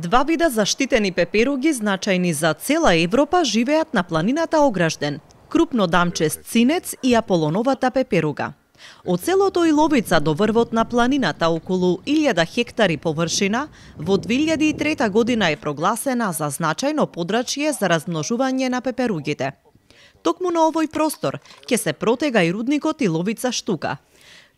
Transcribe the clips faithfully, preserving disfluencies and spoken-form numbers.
Два вида заштитени пеперуги, значајни за цела Европа, живеат на планината Огражден. Крупно дамчест цинец и аполоновата пеперуга. Од селото Иловица до врвот на планината, околу илјада хектари површина, во две илјади и трета година е прогласена за значајно подрачје за размножување на пеперугите. Токму на овој простор ќе се протега и рудникот Иловица Штука.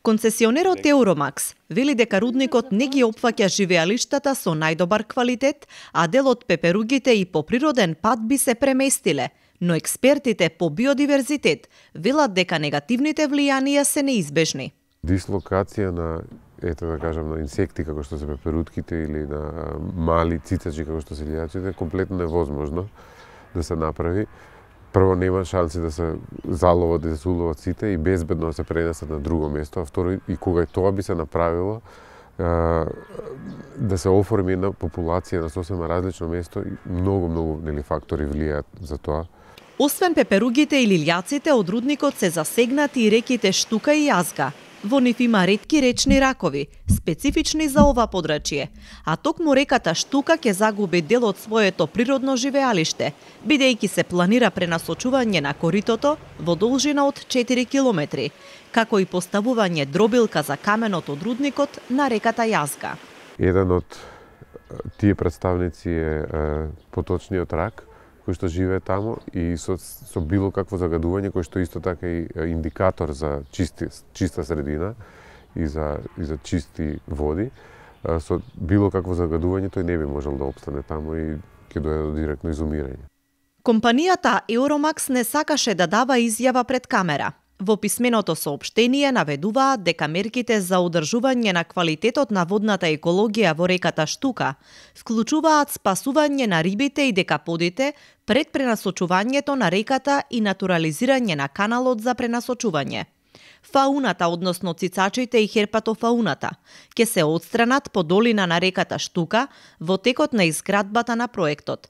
Концесионерот Еуромакс вели дека рудникот не ги опфаќа живеалиштата со најдобар квалитет, а дел од пеперугите и по природен пат би се преместиле, но експертите по биодиверзитет велат дека негативните влијанија се неизбежни. Дислокација на, ето да кажам, на инсекти како што се пеперутките или на мали цицачи како што се лијачите, комплетно невозможно да се направи. Прво, нема шанси да се заловат и да се уловат сите и безбедно да се пренесат на друго место, а второ, и кога и тоа би се направило, да се оформи една популација на сосема различно место, многу, многу нели фактори влијаат за тоа. Освен пеперугите и лилјаците, од рудникот се засегнати и реките Штука и Јазга. Во нив има ретки речни ракови, специфични за ова подрачје, а токму реката Штука ќе загуби дел од своето природно живеалиште, бидејќи се планира пренасочување на коритото во должина од четири километри, како и поставување дробилка за каменот од рудникот на реката Јазга. Еден од тие представници е, е поточниот рак, кој што живее таму и со, со било какво загадување, кој што исто така и индикатор за чисти, чиста средина и за, и за чисти води. Со било какво загадување тој не би можел да опстане таму и ќе дојде до директно изумирање. Компанијата Еуромакс не сакаше да дава изјава пред камера. Во писменото соопштение наведуваат дека мерките за одржување на квалитетот на водната екологија во реката Штука вклучуваат спасување на рибите и декаподите пред пренасочувањето на реката и натурализирање на каналот за пренасочување. Фауната, односно цицачите и херпатофауната, ќе се отстранат по долина на реката Штука во текот на изградбата на проектот.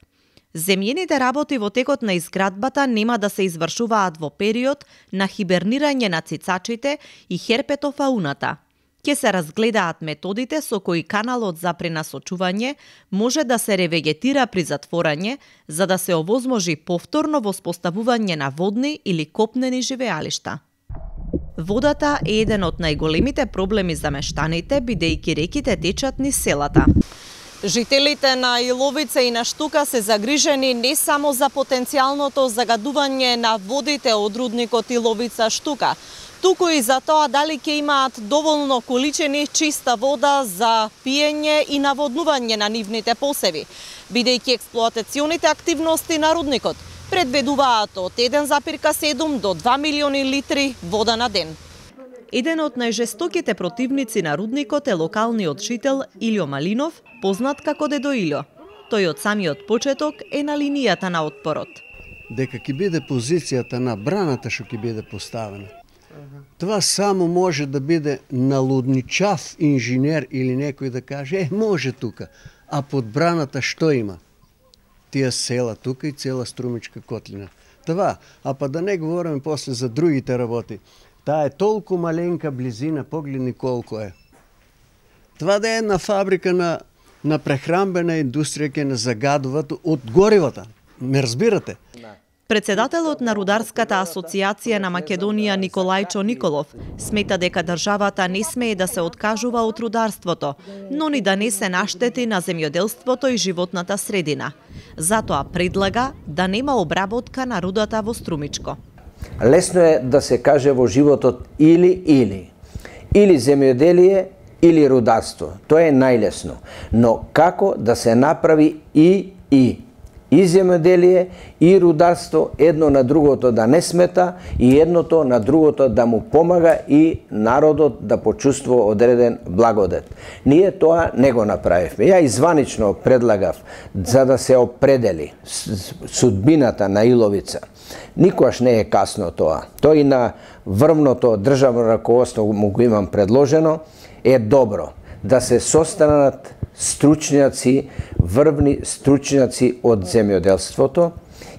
Земјените работи во текот на изградбата нема да се извршуваат во период на хибернирање на цицачите и херпетофауната. Ќе се разгледаат методите со кои каналот за пренасочување може да се ревегетира при затворање, за да се овозможи повторно воспоставување на водни или копнени живеалишта. Водата е еден од најголемите проблеми за мештаните, бидејќи реките течат низ селата. Жителите на Иловица и на Штука се загрижени не само за потенцијалното загадување на водите од рудникот Иловица Штука, туку и за тоа дали ќе имаат доволно количини чиста вода за пиење и наводнување на нивните посеви, бидејќи експлоатационите активности на рудникот предвидуваат од еден запирка седум до два милиони литри вода на ден. Еден од најжестоките противници на рудникот е локалниот жител Илјо Малинов, познат како Дедо Илјо. Тој од самиот почеток е на линијата на отпорот. Дека ќе биде позицијата на браната што ќе биде поставена. Това само може да биде налудничав инженер или некој да каже, е, може тука, а под браната што има? Тие села тука и цела Струмичка котлина. Това, а па да не говориме после за другите работи. Таа е толку маленка близина, погледни колку е. Това да е една фабрика на, на прехранбена индустрија ќе не загадуваат од горивата. Ме разбирате? Председателот на Рударската асоциација на Македонија Николајчо Николов смета дека државата не смее да се откажува од рударството, но ни да не се наштети на земјоделството и животната средина. Затоа предлага да нема обработка на рудата во Струмичко. Лесно е да се каже во животот или-или. Или земјоделие, или рударство. Тоа е најлесно. Но како да се направи и-и? И земјоделие, и рударство, едно на другото да не смета и едното на другото да му помага и народот да почувствува одреден благодет. Ние тоа не го направивме. Ја изванично предлагав за да се определи судбината на Иловица. Никогаш не е касно тоа. Тој на врвното државно раководство му го имам предложено, е добро да се состанат стручњаци, врвни стручњаци од земјоделството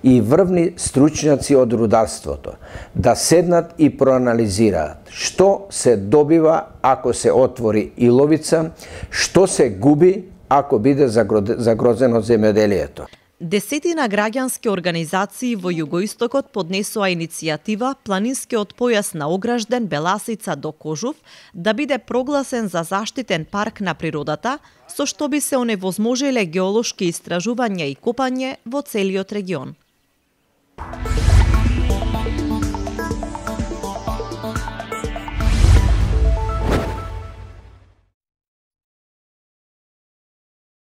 и врвни стручњаци од рударството, да седнат и проанализираат што се добива ако се отвори Иловица, што се губи ако биде загрозено земјоделието. Десетина граѓански организации во југоистокот поднесоа иницијатива планинскиот појас на Огражден, Беласица до Кожув да биде прогласен за заштитен парк на природата, со што би се оневозможиле геолошки истражувања и копање во целиот регион.